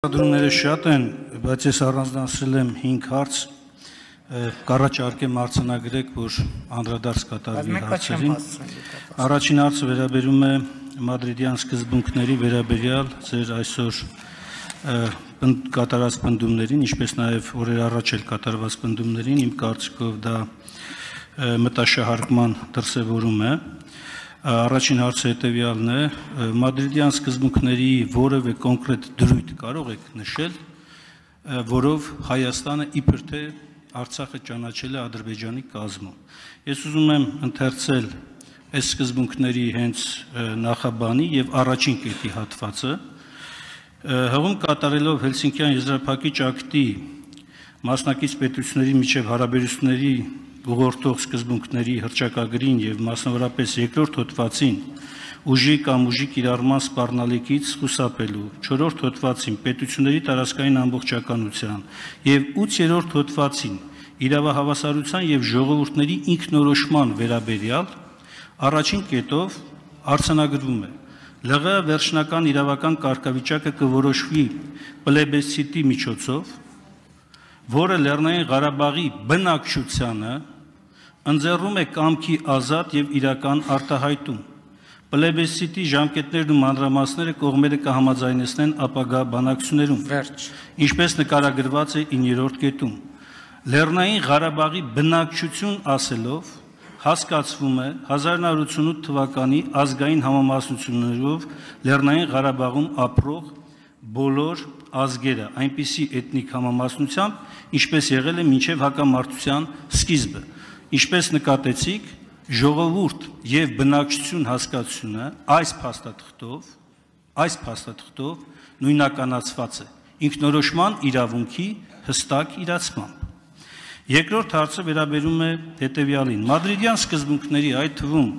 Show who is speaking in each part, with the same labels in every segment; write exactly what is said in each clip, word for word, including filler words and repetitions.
Speaker 1: Դրումները շատ են, բայց ես առանձնացրել եմ հինգ հարց, կառաջարկեմ արձանագրեք, որ անդրադարձ կատարվի հարցերին։ Առաջին հարցը վերաբերում է մադրիդյան սկզբունքների վերաբերյալ ձեր այսօր կատարած պնդումներին, ինչպես նաև օրեր առաջ էլ կատարված պնդումներին, իմ կարծիքով դա մտաշահարկման դրսևորում է։ Առաջին հարցը հետևյալն է, մադրիդյան սկզբունքների որևէ կոնկրետ դրույթ կարող եք նշել, որով Հայաստանը իբր թե Արցախը ճանաչել է Ադրբեջանի կազմում։ Ես ուզում եմ ընթերցել այս սկզբունքների հենց նախաբանի եւ առաջին կետի հատվածը, հղում կատարելով Հելսինկյան եզրափակիչ ակտի մասնակից պետությունների միջև հարաբերությունների ուղղորդող սկզբունքների հռչակագրին եւ մասնավորապես երկրորդ հոդվածին ուժի կամ ուժի կիրառման սպառնալիքից խուսափելու, չորրորդ հոդվածին պետությունների տարածքային ամբողջականության եւ ութերորդ հոդվածին իրավահավասարության եւ ժողովուրդների ինքնորոշման վերաբերյալ առաջին կետով արձանագրվում է ԼՂ վերջնական իրավական կարգավիճակը կորոշվի պլեբեսցիտի միջոցով, որը Լեռնային Ղարաբաղի բնակչությանը ընձեռում է կամքի ազատ եւ իրական արտահայտում։ Պլեբեսցիտի ժամկետներն ու մանրամասները կողմերը կհամաձայնեցնեն ապագա բանակցություններում։ Վերջ։ Ինչպես նկարագրված է իններորդ կետում։ Լեռնային Ղարաբաղի բնակչություն ասելով հասկացվում է հազար նույն հարյուր ութսունութ թվականի ազգային համամասնություններով Լեռնային Ղարաբաղում ապրող բոլոր ազգերը, այնպիսի էթնիկ համամասնությամբ, ինչպես եղել է մինչև հակամարտության սկիզբը, ինչպես նկատեցիք, ժողովուրդ եւ բնակչություն հասկացությունը այս փաստաթղթով, այս փաստաթղթով նույնականացված է ինքնորոշման իրավունքի հստակ իրացմամբ։ Երկրորդ հարցը վերաբերում է հետևյալին. Մադրիդյան սկզբունքների, այդ թվում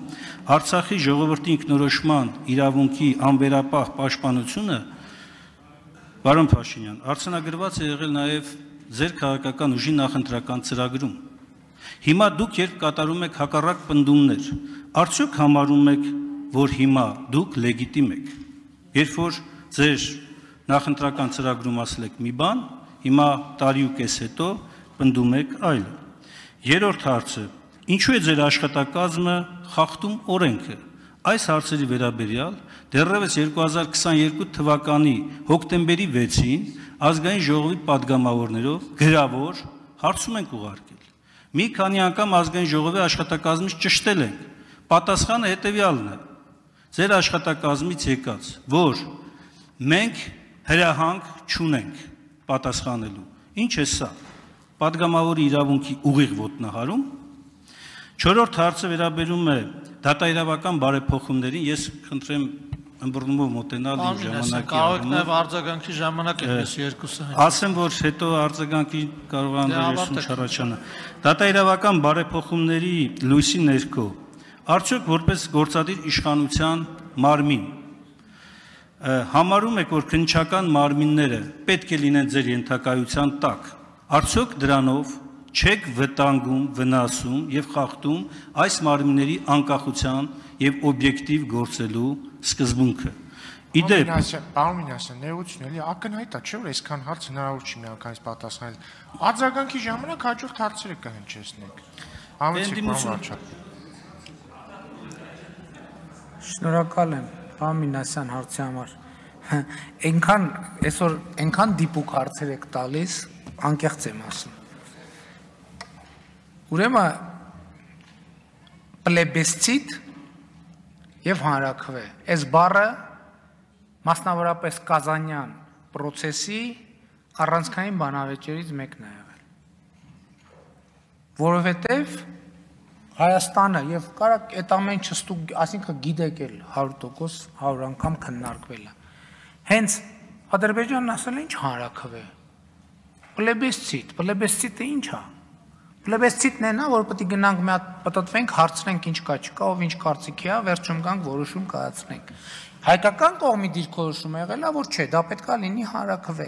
Speaker 1: Արցախի ժողովրդի ինքնորոշման իրավունքի անվերապահ պաշտպանությունը, պարոն Փաշինյան, արձանագրված է եղել նաև ձեր քաղաքական ուժի նախընտրական ծրագրում։ Հիմա դուք երբ կատարում եք հակառակ պնդումներ, արդյոք համարում եք, որ հիմա դուք լեգիտիմ եք։ Երբ որ ձեր նախընտրական ծրագրում ասել եք մի բան, հիմա տարի ու կես հետո պնդում եք այլը։ Երրորդ հարցը. ինչու է ձեր աշխատակազմը խախտում օրենքը։ Այս հարցերի վերաբերյալ դեռևս երկու հազար քսաներկու թվականի հոկտեմբերի վեցին ազգային ժողովի падգամավորներով գրավոր հարցում ենք ուղարկել։ Մի քանի անգամ ազգային ժողովի աշխատակազմից ճշտել ենք։ Պատասխանը հետևյալն է. ձեր աշխատակազմից եկած, որ մենք հրահանգ չունենք պատասխանելու։ Ինչ է սա։ Պատգամավորի իրավունքի ուղիղ ոտնահարում։ Չորրորդ հարցը վերաբերում է դատաիրավական բարեփոխումներին, ես խնդրեմ ըմբռնումով մոտենալ իմ ժամանակի
Speaker 2: առումով։ Կարող եք նաև արձագանքի ժամանակ այդպես երկուսը։
Speaker 1: Ասեմ, որ հետո արձագանքի կարող է անհրաժեշտություն չառաջանա։ Դատաիրավական բարեփոխումների լույսի ներքո արդյոք որպես գործադիր իշխանության մարմին համարում եք, որ քննչական մարմինները պետք է լինեն ձեր ենթակայության տակ, արդյոք դրանով չեք վտանգում, վնասում եւ խախտում այս մարմինների անկախության եւ օբյեկտիվ գործելու սկզբունքը։ Իդեպ,
Speaker 3: պարոն Մինասյան, ներողություն, էլի ակնհայտ է, չէ՞ որ այսքան հարց հնարավոր չի միանգամից պատասխանել։ Արձագանքի ժամանակ հաջորդ հարցերը կհնչեցնենք։
Speaker 4: Շնորհակալ եմ, պարոն Մինասյան, հարցի համար։ Այնքան այսօր այնքան դիպուկ հարցեր եք տալիս, անկեղծ եմ ասում։ Ուրեմն պլեբեսցիտ եւ հանրաքվե։ Այս բառը մասնավորապես Կազանյան process-ի առանցքային բանավեճերից մեկն է եղել։ Որովհետեւ Հայաստանը եւ կարակ այդ ամեն չստուկ, ասինքն գիտեք էլ հարյուր տոկոս հարյուր անգամ քննարկվել է։ Հենց Ադրբեջանն ասել է ինչ հանրաքվե։ Պլեբեսցիտ, պլեբեսցիտը ինչ է։ Պլեբեսցիտն է նա, որ պետք է գնանք մի հատ պատտվենք, հարցնենք ինչ կա, չկա, ով ինչ կարծիքի է, վերջում գանք որոշում կայացնենք։ Հայկական կողմի դիրքորոշումը եղել է, որ չէ, դա պետք է լինի հանրաքվե։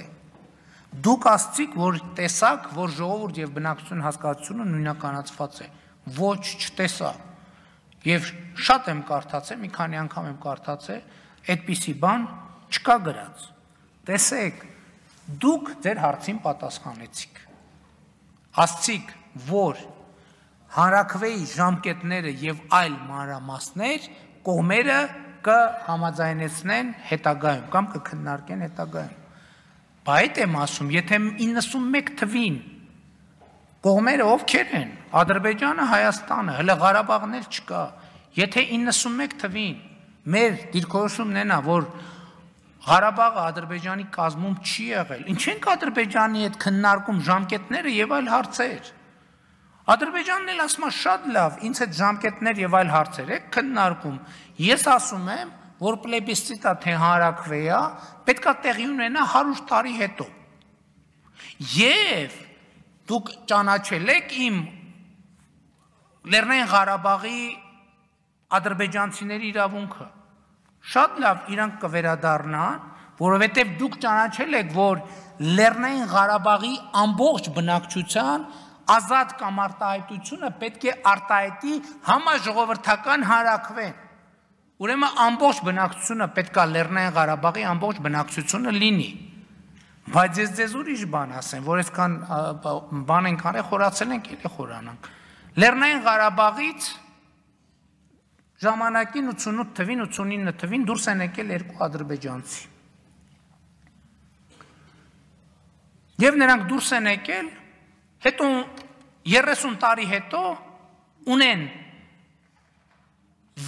Speaker 4: Դուք ասցիք, որ տեսակ, որ ժողովուրդ եւ բնակչություն հասկացությունը նույնականացված է։ Ոչ, չտեսա։ Եվ շատ եմ կարդացել, մի քանի անգամ եմ կարդացել, այդպիսի բան չկա գրած։ Տեսեք, Դուք ձեր հարցին պատասխանեցիք։ Ասցիք, որ հանրաքվեի ժամկետները եւ այլ մանրամասներ կողմերը կհամաձայնեցնեն հետագայում կամ կքննարկեն հետագայում։ Բայց եմ ասում, եթե իննսունմեկ թվին կողմերը ովքեր են, Ադրբեջանը, Հայաստանը, հələ Ղարաբաղն էլ չկա, եթե իննսունմեկ թվին մեր դիրքորոշումն են, որ Ղարաբաղը Ադրբեջանի կազմում չի եղել, ինչ ենք Ադրբեջանի հետ քննարկում ժամկետները եւ այլ հարցեր։ Ադրբեջանն էլ ասում է շատ լավ, ինձ հետ ժամկետներ եւ այլ հարցեր եք քննարկում։ Ես ասում եմ, որ պլեբիսցիտա թե հանրաքվեա պետքա տեղի ունենա հարյուր տարի հետո։ Եվ դուք ճանաչել եք իմ Լեռնային Ղարաբաղի ադրբեջանցիների իրավունքը։ Շատ լավ իրանք կվերադառնան, որովհետև դուք ճանաչել եք, որ Լեռնային Ղարաբաղի ամբողջ բնակչության ազատ կամ արտահայտությունը պետք է արտահայտի համաժողովրդական հանրաքվեն։ Ուրեմն ամբողջ բնակչությունը պետք է Լեռնային Ղարաբաղի ամբողջ բնակչությունը լինի։ Բայց ես ձեզ ուրիշ բան ասեմ, որ այսքան բան ենք արել, խորացել ենք, էլի խորանանք։ Լեռնային Ղարաբաղից ժամանակին ութսունութ թվին, ութսունինը թվին դուրս են եկել երկու ադրբեջանցի։ Եվ նրանք դուրս են եկել, հետո երեսուն տարի հետո ունեն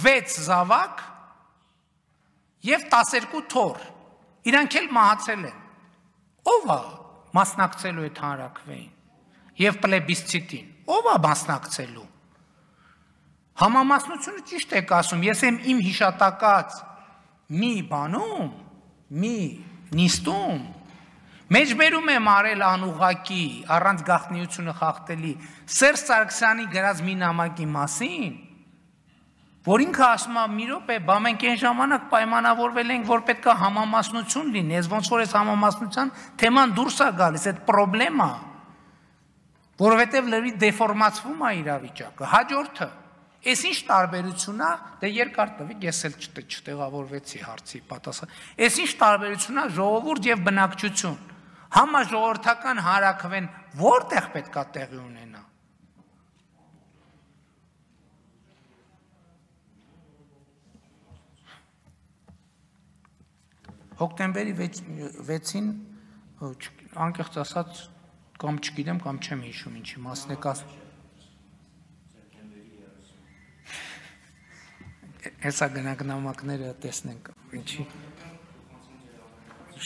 Speaker 4: վեց զավակ և տասներկու թոռ, իրանք էլ մահացել են։ Ով է մասնակցելու այդ հանրաքվեին և պլեբիսցիտին, ով է մասնակցելու։ Համամասնությունը ճիշտ եք ասում, ես եմ իմ հիշատակած մի բանում, մի նիստում, մեջբերում եմ արել անուղակի, առանց գաղտնիությունը խախտելի, Սերժ Սարգսյանի գրած մի նամակի մասին, որ ինքը ասում է մի րոպե, բա մենք այն ժամանակ պայմանավորվել ենք, որ պետք է համամասնություն լինի, ես ոնց որ այս համամասնության թեման դուրս է գալիս, այդ պրոբլեմ է, որովհետև լրի դեֆորմացվում է իրավիճակը, հաջորդը։ Ես ինչ տարբերություն է, դե երկար տվի, ես էլ չտեղավորվեցի հարցի պատասխան։ Ես ինչ տարբերություն է ժողովուրդ եւ բնակչություն։ Համաժողովրդական հանրաքվեն որտեղ պետք է տեղի ունենա։ Հոկտեմբերի վեցին անկեղծ ասած կամ չգիտեմ կամ չեմ հիշում ինչի մասն եք ասում։ Հեսա գնանք նամակները տեսնենք, ինչի։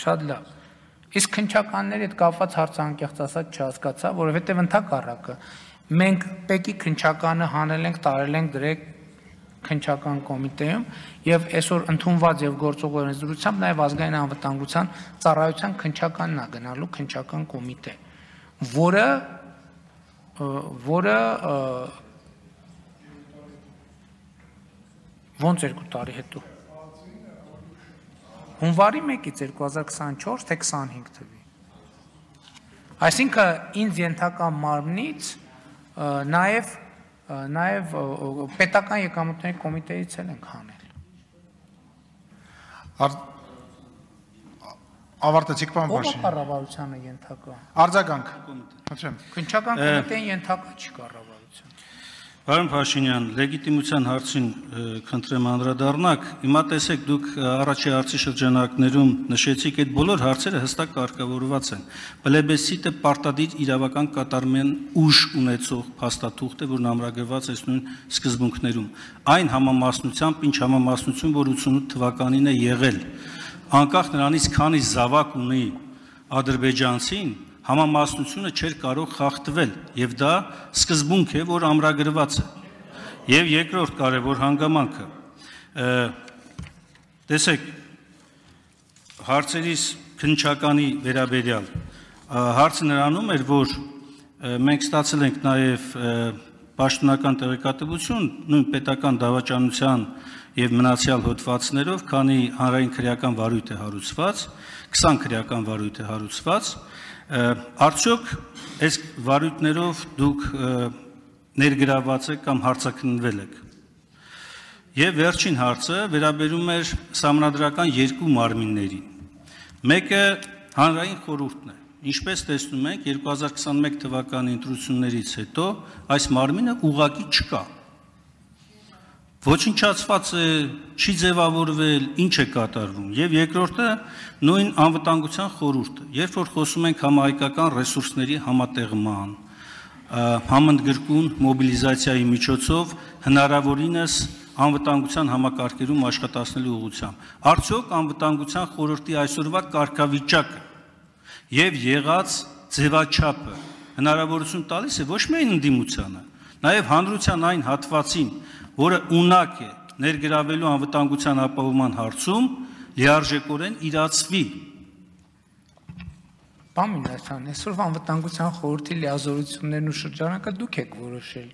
Speaker 4: Շատ լավ։ Իսկ քննչականների հետ կապված հարցը անկեղծ ասած չհասկացա, որովհետև ընդհակառակը մենք Պեկի քննչականը հանել ենք, տարել ենք դրեք քննչական կոմիտեում եւ այսօր ընդունված եւ գործող օրենսդրությամբ նաեւ ազգային անվտանգության ծառայության քննչականն է գնալու քննչական կոմիտե, որը որը ոնց երկու տարի հետո։ Հունվարի մեկից երկու հազար քսանչորս թե քսանհինգ թվի։ Այսինքն ինձ ենթական մարմնից նաև նաև պետական եկամուտների կոմիտեից էլ ենք հանել։
Speaker 3: Ավարտեցիք պարոն Փաշինյան։
Speaker 4: Ո՞վ է կառավարությանը ենթակա։
Speaker 3: Արձագանք։ Խնդրեմ։
Speaker 4: Քննչական կոմիտեին ենթակա չի կառավարության։
Speaker 1: Պարոն Փաշինյան, լեգիտիմության հարցին խնդրեմ անդրադառնաք։ Հիմա տեսեք, դուք առաջի հարցի շրջանակներում նշեցիք, այդ բոլոր հարցերը հստակ կարգավորված են։ Պլեբիսցիտը պարտադիր իրավական կատարման ուժ ունեցող փաստաթուղթ է, որն ամրագրված է նույն սկզբունքներում։ Այն համամասնությամբ, ինչ համամասնություն, որ ութսունութ թվականին է եղել, անկախ նրանից քանի զավակ ունի ադրբեջանցին, համամասնությունը չէր կարող խախտվել, եւ դա սկզբունք է, որ ամրագրված է։ Եվ երկրորդ կարևոր հանգամանքը, տեսեք, հարցերիս քննչականի վերաբերյալ, հարցը նրանում էր, որ մենք ստացել ենք նաեւ պաշտոնական տեղեկատվություն, նույն պետական դավաճանության եւ մնացյալ հոդվածներով, քանի հանրային քրեական վարույթ է հարուցված, քսան քրեական վարույթ է հարուցված, արդյոք այս վարույթներով դուք ներգրաված եք կամ հարցաքննվել եք։ Եվ վերջին հարցը վերաբերում էր սահմանադրական երկու մարմիններին։ Մեկը հանրային խորհուրդն է։ Ինչպես տեսնում ենք, երկու հազար քսաներեք թվականի ընտրություններից հետո այս մարմինը ուղղակի չկա։ Ոչնչացված է, չի ձևավորվել, ինչ է կատարվում։ Եվ երկրորդը նույն անվտանգության խորհուրդը, երբ որ խոսում ենք համահայկական ռեսուրսների համատեղման, համընդգրկուն մոբիլիզացիայի միջոցով հնարավորինս անվտանգության համակարգերում աշխատացնելու ուղղությամբ, արդյոք անվտանգության խորհրդի այսօրվա կարգավիճակը եւ եղած ձևաչափը հնարավորություն տալիս է ոչ միայն ընդդիմությանը, նաեւ հանրության այն հատվածին, որը ունակ է ներգրավելու անվտանգության ապահովման հարցում, լիարժեքորեն իրացվի։
Speaker 4: Պարոն Մինասյան, այսօր անվտանգության խորհրդի լիազորություններն ու շրջանակը դուք եք որոշել։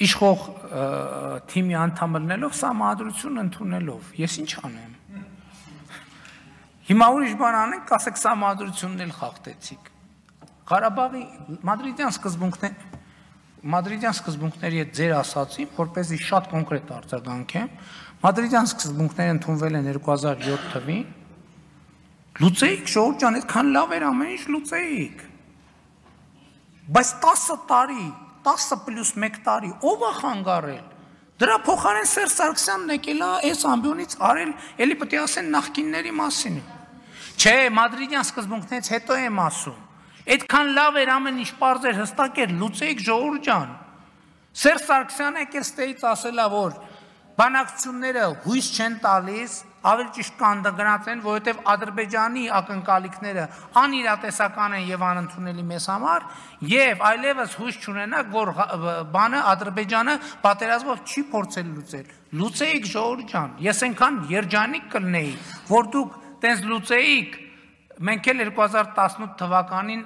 Speaker 4: Իշխող թիմի անդամ լինելով սահմանադրություն ընդունելով, ես ինչ անեմ։ Հիմա ուրիշ բան անենք, ասեք սահմանադրությունն էլ խախտեցիք։ Ղարաբաղի մադրիդյան սկզբունքներ Մադրիդյան սկզբունքների հետ ձեր ասացին, որպեսզի շատ կոնկրետ արձագանքեմ, Մադրիդյան սկզբունքները ընդունվել են երկու հազար յոթ թվին, լուծեիք, ժողովուրդ ջան, այդքան լավ էր ամեն ինչ լուծեիք։ Բայց տասը տարի, տասը պլյուս մեկ տարի, ով է խանգարել։ Դրա փոխարեն Սերժ Սարգսյանն եկել է այս ամբիոնից արել, էլի պետք է ասեն նախկինների մասին։ Չէ, Մադրիդյան սկզբունքներից հետո եմ ասում։ Այդքան լավ էր ամեն ինչ պարզ էր, հստակ էր, լուծեիք ժողովուրդ ջան։ Սերժ Սարգսյանը եկել ստեից ասել է, որ բանակցությունները հույս չեն տալիս, ավելի ճիշտ կանգնած են, որովհետև Ադրբեջանի ակնկալիքները անիրատեսական են եւ անընդունելի մեզ համար, եւ այլևս հույս չունենակ, որ բանը Ադրբեջանը պատերազմով չի փորձել լուծել։ Լուծեիք ժողովուրդ ջան։ Ես այնքան երջանիկ կլնեի, որ դուք տենց լուծեիք, մենք էլ երկու հազար տասնութ թվականին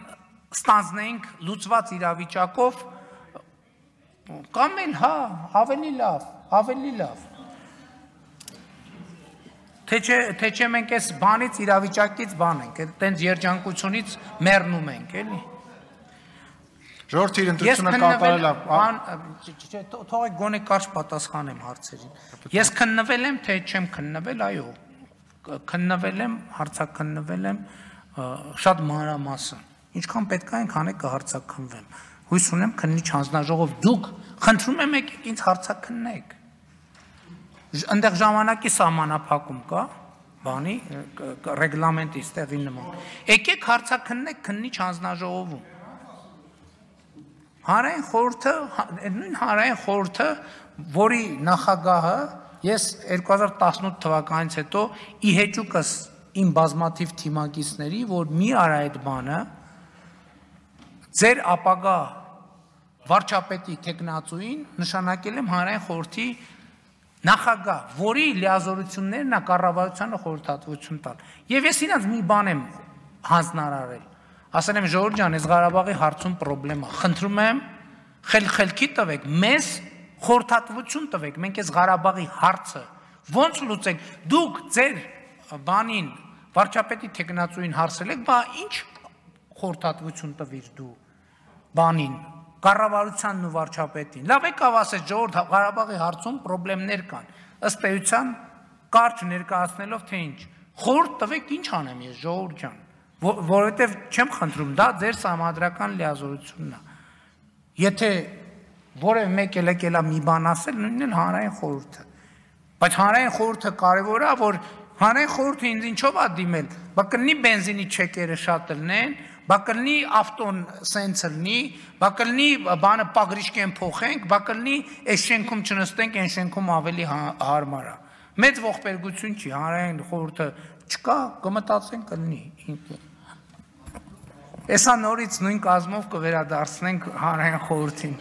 Speaker 4: ստանձնեինք լուծված իրավիճակով, կամ էլ հա, ավելի լավ, ավելի լավ։ Թե չէ մենք այս բանից իրավիճակից բան ենք, տենց երջանկությունից մեռնում ենք, էլի։
Speaker 3: Ժողովրդի ընտրությունը կատարել
Speaker 4: է։ Թողեք գոնե կարճ պատասխանեմ հարցերին։ Ես քննվել եմ, թե չեմ քննվել, այո։ Քննվել եմ, հարցաքննվել եմ շատ մանրամասն։ Ինչքան պետք է այնքան է կհարցաքննվեմ։ Հույս ունեմ քննիչ հանձնաժողով դուք խնդրում եմ եկեք ինձ հարցաքննեք։ Այնտեղ ժամանակի սահմանափակում կա, բանի ռեգլամենտի ստեղի նման։ Եկեք հարցաքննեք քննիչ հանձնաժողովում։ Հանրային խորհուրդը, նույն հանրային խորհուրդը, որի նախագահը ես երկու հազար տասնութ թվականից հետո ի հեճուկս իմ բազմաթիվ թիմակիցների, որ մի արա այդ բանը, ձեր ապագա վարչապետի թեկնածուին նշանակել եմ հանրային խորհրդի նախագահ, որի լիազորություններն է կառավարությանը խորհրդատվություն տալ։ Եվ ես իրենց մի բան եմ հանձնարարել։ Ասել եմ ժողովուրդ ջան, այս Ղարաբաղի հարցում խնդրեմ է, խնդրում եմ խելքի տվեք, մեզ խորհրդատվություն տվեք, մենք այս Ղարաբաղի հարցը ոնց լուծենք, դուք ձեր բանին վարչապետի թեկնածուին հարցրել եք, բա ինչ խորհրդատվություն տվիր դու բանին, կառավարությանն ու վարչապետին։ Լավ եկավ ասեց ժողովուրդ Ղարաբաղի հարցում խնդիրներ կան, ըստ էության կարճ ներկայացնելով թե ինչ, խորհուրդ տվեք, ինչ անեմ ես ժողովուրդ ջան, որովհետև չեմ խնդրում, դա ձեր սահմանադրական լիազորությունն է։ Եթե որևէ մեկ էլ եկել է մի բան ասել, նույնն էլ հանրային խորհուրդը։ Բայց հանրային խորհուրդը կարևոր է, որ հանրային խորհուրդը ինձ ինչով է դիմել, բա կլինի բենզինի չեկերը շատ լինեն, բա կլինի ավտոն սենց լինի, բա կլինի բանը պագրիշկեն փոխենք, բա կլինի այս շենքում չնստենք, այն շենքում ավելի հարմար է։ Մեծ ողբերգություն չի, հանրային խորհուրդը չկա, կմտածենք կլինի։ Էսա նորից նույն կազմով կվերադարձնենք հանրային խորհրդին։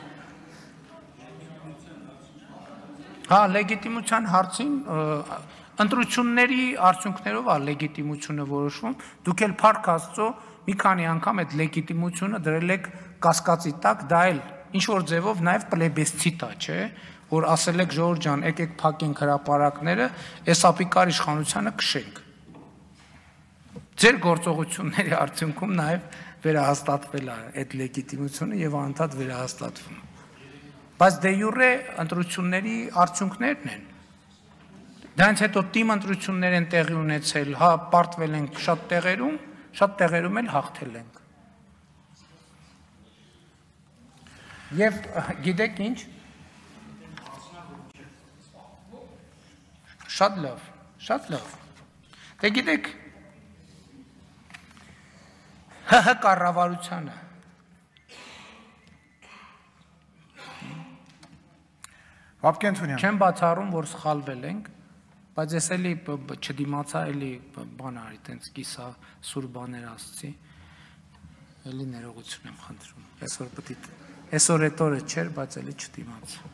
Speaker 4: Հա, լեգիտիմության հարցին ընտրությունների արդյունքներով է լեգիտիմությունը որոշվում, դուք էլ փառք Աստծո մի քանի անգամ այդ լեգիտիմությունը դրել եք կասկածի տակ, դա էլ ինչ որ ձևով նաև պլեբեսցիտ է, չէ, որ ասել եք ժողովուրդ ջան, եկեք փակենք հրապարակները, այս ապիկար իշխանությանը քշենք։ Ձեր գործողությունների արդյունքում նաև վերահաստատվել է այդ լեգիտիմությունը եւ անդադ վերահաստատվում։ Բայց դե յուրե ընտրությունների արդյունքներն են։ Դրանից հետո թիմ ընտրություններ են տեղի ունեցել, հա, պարտվել են շատ տեղերում, շատ տեղերում էլ հաղթել ենք։ Եվ գիտեք ինչ, շատ լավ, շատ լավ, դե գիտեք, ՀՀ կառավարությանը,
Speaker 5: Վապկենթունյան,
Speaker 4: չեմ բացառում, որ սխալվել ենք, բայց ես էլի չդիմացա, էլի բան արի, տենց կիսա սուր բաներ ասցի, էլի ներողություն եմ խնդրում, այսօր պետք է Այսօր այդ օրը չէր, բայց էլի չդիմացա։